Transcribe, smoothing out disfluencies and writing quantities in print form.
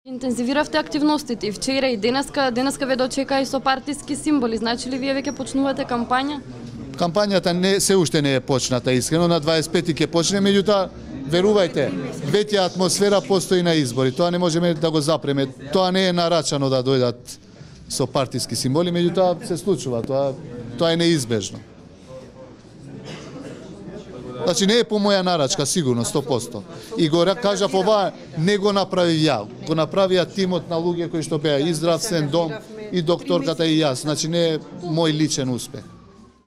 Интензивиравте активностите и вчера и денеска ве дочека и со партиски символи. Значи ли вие веќе почнувате кампања? Кампањата се уште не е почната, искрено на 25 ќе почне, меѓутоа верувајте, веќе атмосфера постои на избори. Тоа не можеме да го запреме. Тоа не е нарачано да дојдат со партиски символи, меѓутоа се случува. Тоа е неизбежно. Значи не е по моја нарачка, сигурно, 100%. И го кажав ова, не го направи ја. Го направија тимот на луѓе кои што беа и здравствен дом, и докторката и јас. Значи не е мој личен успех.